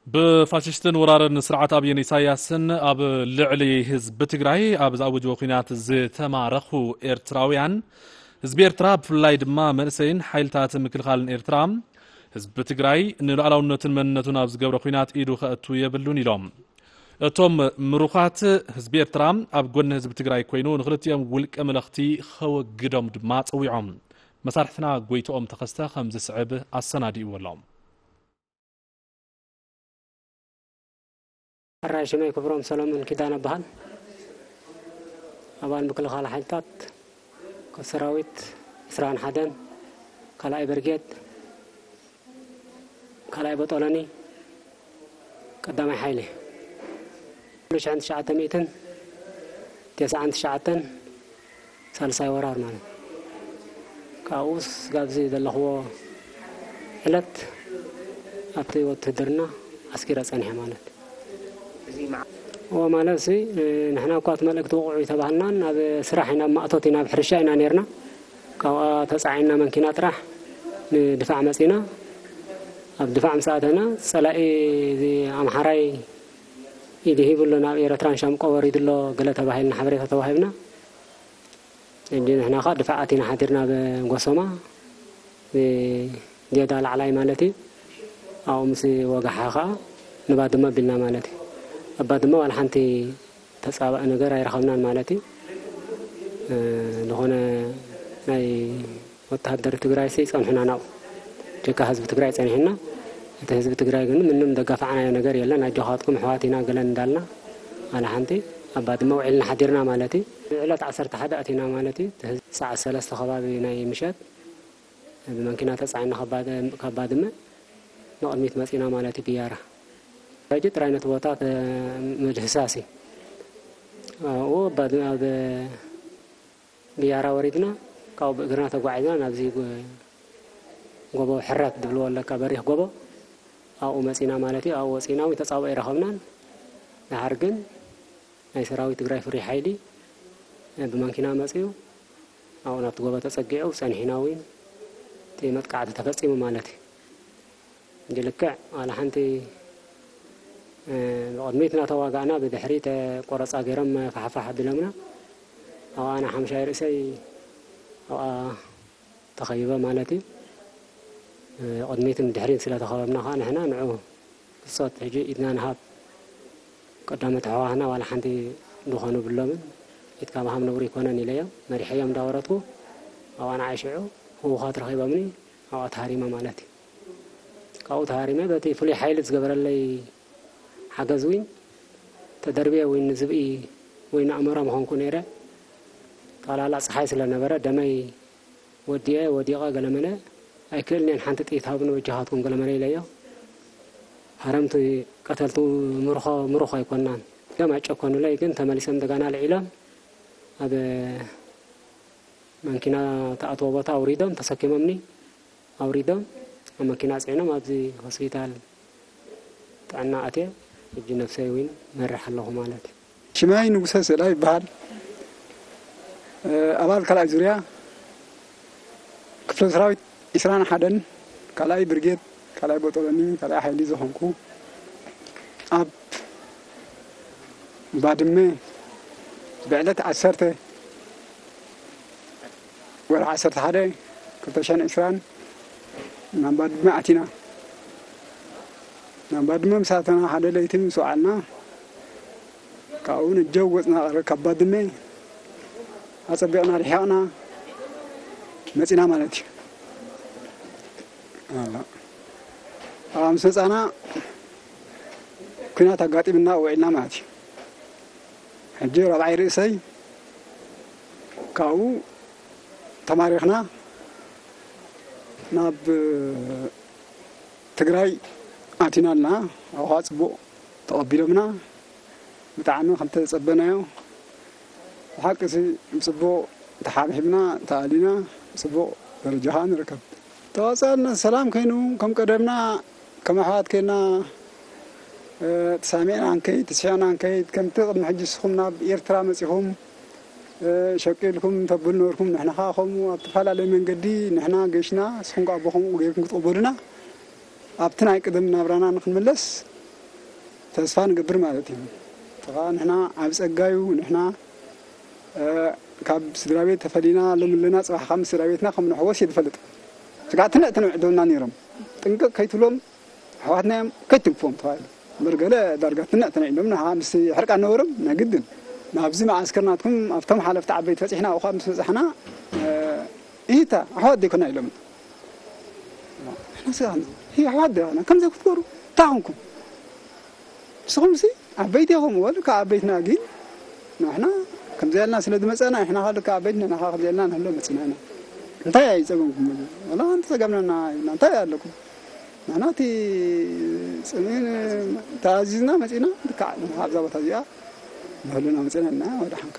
ብፋሽስትን ወራርን ስርዓት ኣብይን ኢሳያስን ኣብ ልዕሊ ህዝቢ ትግራይ ኣብ ዝኣወጅዎ ኲናት ዝተማረኹ ኤርትራውያን፣ ህዝቢ ኤርትራ ብፍላይ ድማ መንእሰይን ሓይልታት ምክልኻልን ኤርትራ፣ ህዝቢ ትግራይ ንሉዓላውነቱን መንነቱን ኣብ ዝገብሮ ኲናት ኢዱ ከእቱ የብሉን ኢሎም። እቶም ምሩኻት፣ ህዝቢ ኤርትራ ኣብ ጎኒ ህዝቢ ትግራይ ኮይኑ ንክልቲኦም ውልቀ መለኽቲ ከወግዶም ድማ ጸዊዖም። መሳርሕትና ጎይትኦም ተኸስተ ከም ዝስዕብ ኣሰናዲእዎ ኣሎ። ሕራይ ሽመይ ክብሮም ሰሎሞን ኪዳነ እበሃል። ኣባል ምክልኻል ሓይልታት ሰራዊት ዕስራን ሓደን ካልኣይ ብርጌድ ካልኣይ ቦጦሎኒ ቀዳማይ ሓይሊ። ኩሉ ሽሕን ትሽዓተ ሚእትን ተስዓን ትሽዓተን ሳልሳይ ወራር ማለት። ካብኡስ ጋብዚ ዘለኽዎ ዕለት ኣብቲ ውትድርና ኣስኪረ ጸኒሐ ማለት። እዚ መዓ- እዎ ማለት ሲ፣ ንሕና እኳ እቲ መልእክቲ ውቕዑ ይተባህልናን ኣብ ስራሕ ኢና፣ ኣብ ማእቶት ኢና፣ ኣብ ሕርሻ ኢና ነርና። ካብኣ ተጻዒንና መንኪና ጥራሕ ንድፋዕ መጺና። ኣብ ድፋዕ ምስ ኣተና ጸላኢ እዚ ኣምሓራይ ኢድ ሂቡ ኣሎ፣ ናብ ኤረትራን ሻምቆ ወሪዱ ኣሎ ገለ ተባሂልና ሓበሬታ ተዋሂብና። እንዲ ንሕና ኸኣ ድፋዕ ኣቲና ሓዲርና ኣብ ጎሶማ፣ እ፣ ጌዳ ላዕላይ ማለት እዩ። ኣብኡ ምስ ወጋሓ ኸኣ ንባድመ ኣቢልና ማለት እዩ። ኣብ ባድመ ዋላ ሓንቲ ተጻባኢ ነገር ኣይረኸብናን ማለት እዩ። እ፣ ዝኾነ ናይ ወተሃደር ትግራይሲ ይጸንሑና ናብኡ። ጀካ ህዝቢ ትግራይ ጸኒሑና። እቲ ህዝቢ ትግራይ ግን ምንም ደጋፋዕናዮ ነገር የለን። ኣጆኻትኩም ኣሕዋት ኢና ገለን እንዳልና፣ ዋላ ሓንቲ ኣብ ባድመ ውዒልና ሓዲርና ማለት እዩ። ዕለት ዓሰርተ ሓደ ኣቲና ማለት እዩ። እቲ ህዝቢ ሰዓት ሰለስተ ከባቢ ናይ ምሸት ብመኪና ተጻዒና ካብ ባድ-፣ ካብ ባድመ ንቕድሚት መጺና ማለት እዩ። ብያራ ሕጂ ጥራይ ነቲ ቦታ ተ-፣ ምድህሳስ እዩ። ኣብኡ ኣብ ባድመ፣ ኣብ ብያራ ወሪድና፣ ካብኡ ብእግርና ተጓዒዝና ናብዚ ጎ-፣ ጎቦ ሕረት ዝብልዎ ኣለካ፣ በሪኽ ጎቦ፣ ኣብኡ መጺና ማለት እዩ። ኣብኡ ወጺና እውን ተጻብኦ ኣይረኸብናን። ደሓር ግን ናይ ሰራዊት ትግራይ ፍሉይ ሓይሊ ብመኪና መጺኡ፣ ኣብኡ ናብቲ ጎቦ ተጸጊዑ፣ ጸኒሕና እውን እቲ መጥቃዕቲ ተፈጺሙ ማለት እዩ። እንጂ ልክዕ ዋላ ሓንቲ፣ እ፣ ብቕድሚት እናተዋጋእና ብድሕሪት ቆረፃ ገይሮም ፋሕፋሕ ኣቢሎምና። ኣብኣ ኣነ ሓሙሻይ ርእሰይ ኣብኣ ተኸቢበ ማለት እዩ። እ፣ ቅድሚትን ድሕሪት ስለ ተኸበብና ከዓ ንሕና ንዑ ብጾት ሕጂ ኢድና ንሃብ። ቀዳሞት ኣሕዋትና ዋላ ሓንቲ ዝኾኑ ብሎምን ኢድካ ምሃብ ነውሪ ኣይኮነን ኢለዮም። መሪሐዮም እንዳወረድኩ ኣብኣ ንዓይ ሽዑ ህዉኻት ረኺቦምኒ ኣብኣ ተሃሪመ ማለት እዩ። ካብኡ ተሃሪመ በቲ ፍሉይ ሓይሊ ዝገበረለይ ሓገዝ እውን ተደርብየ እውን ንዝብኢ ወይ ንኣሞራ ምኾንኩ ነይረ። ጠቕላላ ፀሓይ ስለ ነበረ ደመይ ወዲኤ ወዲቐ ገለመለ ኣይክእልን እየን፣ ሓንቲ ጥይት ሃቡኒ በጃኻትኩም ገለመለ ኢለዮ። ሃረምቲ ቀተልቲ ምርኾ ምሩኽ ኣይኮናን። ደም ኣይጨከኑለይ ግን ተመሊሶም እንደገና ልዒሎም ኣብ መንኪና ተኣትዎ ቦታ ኣውሪዶም ተሰኪሞምኒ። ኣውሪዶም ኣብ መኪና ጽዒኖም ኣብዚ ሆስፒታል ጥዕና ኣትየ። ሕጂ ነብሰይ እውን መርሕ ኣለኹ ማለት እዩ። ሽመይ ንጉሰ ስእላ ይበሃል። ኣባል ካልኣይ ዙርያ ክፍለ ሰራዊት ዕስራን ሓደን ካልኣይ ብርጌድ ካልኣይ ቦጦሎኒ ካልኣይ ሓይሊ ዝኾንኩ፣ ኣብ ባድመ ብዕለት ዓሰርተ ወርሒ ዓሰርተ ሓደ ክልተ ሽሕን ዕስራን ናብ ባድመ ኣቲና። ናብ ባድመ ምስ ኣተና ሓደ ለይቲ ምስ ወዓልና፣ ካብኡ ነጀው ወፅና፣ ካብ ባድመ ኣፀቢቕና ርሒቕና መፂና ማለት እዩ። ኣላ። ኣብ ምስ መፃና ኲናት ኣጋጢምና ውዒልና ማለት እዩ። ሕጂ ራብዓይ ርእሰይ ካብኡ ተማሪኽና ናብ ትግራይ ኣቲና ኣለና። ኣብኡ ከዓ ፅቡቕ ተቐቢሎምና። ብጣዕሚ ከም ተጸበናዮ ብሓቂ ሲ ብጽቡቕ ተሓብሒብና ተኣሊና ጽቡቕ ደረጃ ኸኣ ንርከብ። ተዋጻእና ሰላም ከይኑ ከም ቀደምና ከም ኣሕዋት ከይና፣ እ፣ ተሳሚዕና ንከይድ፣ ተስሒቕና ንከይድ፣ ከምቲ ቅድሚ ሕጂ ንስኹም ናብ ኤርትራ መጺኹም፣ እ፣ ሸቂልኩም ተብሉ ነበርኩም፣ ንሕና ኸኣ ከምኡ ኣብ ተፈላለየ መንገዲ ንሕና ገሽና፣ ንስኹም ከኣ ብኸምኡ ገይርኩም ክትቕበሉና፣ ኣብቲ ናይ ቅድም ናብራና ንኽንምለስ ተስፋ ንገብር ማለት እዩ። ተኻ ንሕና ኣብ ጸጋዩ ንሕና ካብ ስድራ ቤት ተፈሊና ሎም ኣለና፣ ጽባሕ ካብ ስድራ ቤትና ከም ንሕወስ እየ ዝፈልጥ። ስጋዕ ትንዕ ትንዕ ደውና ነይሮም። ጥንቅቕ ከይትብሎም ኣሕዋትና እዮም ከይትንክፎም ተባሂሉ። እምበር ገለ ዳርጋ ትንዕ ትንዕ ኢሎም ንሓ ምስ ሕርቃ ነበሮም ናይ ግድን ናብዚ መዓስከር ናትኩም ኣብቶም ሓለፍቲ ዓበይቲ በጺሕና ኣብኡ ምስ በጻሕና ኢታ ኣሕዋት ዘይኮና ኢሎም። ንሕና ስጋዕ ንሕና ኣሕዋት ዲና ከምዚ ክትገብሩ እንታይ ኮንኩም? ንስኹም ሲ ዓበይቲ ኢኹም ወል ካብ ዓበይትና ግን ንሕና ከምዚ ያልና ስለ ዝመፀና ንሕና ካልካ ዓበይትና ንኻ ከምዚ ያልና ንህሎ መፅና ኢና። እንታይ ኣይፀገምኩም? ወላ እንተፀገምናና ኢልና እንታይ ኣለኩም? ንሕና እቲ ፅምእን ተኣዚዝና መፂና ልክዕ ኣብዛ ቦታ እዚኣ ንህሉና መፅና ኢና ወደ ሓንካ